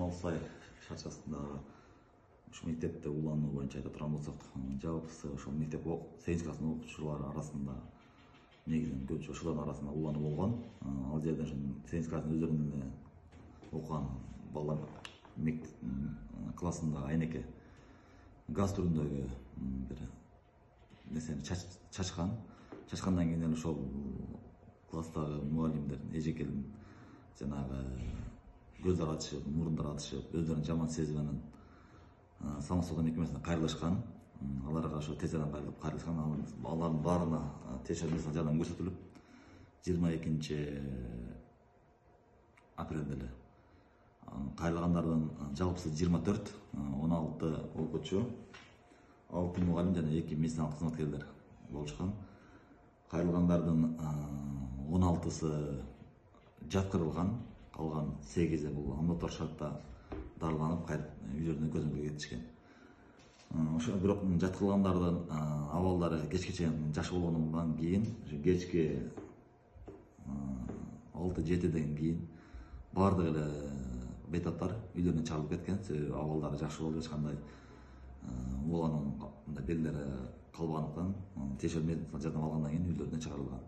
Камалсай шарчасындагы ушу мектепте улануу боюнча айта турган болсок, жалпысы ошол мектеп 8 класстын окуучулары арасында негизинен көбүнчө ошолордун арасында улануу болгон. Ал жерде 8 класстын өздөрүнүн эле окуган балдар классындагы айнеке газ түрүндөгү бир нерсени чачкан. Чачкандан кийин эле ошол класстагы мугалимдердин эжекелин жанагы көздөр ачышып, мурундар атышып, өздөрүн жаман сезип анан самосвод мекемесине кайрылышкан. Аларга ошо тез арада кайрылышкан. Алардын баарына тез жардам көрсөтүлүп, 22 апрелде эле кайрылгандардын жалпысы 24, 16 окуучу, 6 мугалим жана 2 медициналык кызматкерлер болушкан. Кайрылгандардын 16сы жаткырылган, калган 8-и бул амбулатордук шартта дарыланып, кайтып үйлөрүнө көзөмөлгө кетишкен. Ошо бирок жаткырылгандардын абалдары кечке чейин жакшы болгондон кийин, кечки 6-7ден кийин баардык эле бейтаптар үйлөрүнө чыгарылып кеткен. Себеби абалдары жакшы болуп, эч кандай улануунун белгилери калбагандыктан тиешелүү медициналык жардам алгандан кийин үйлөрүнө чыгарылган.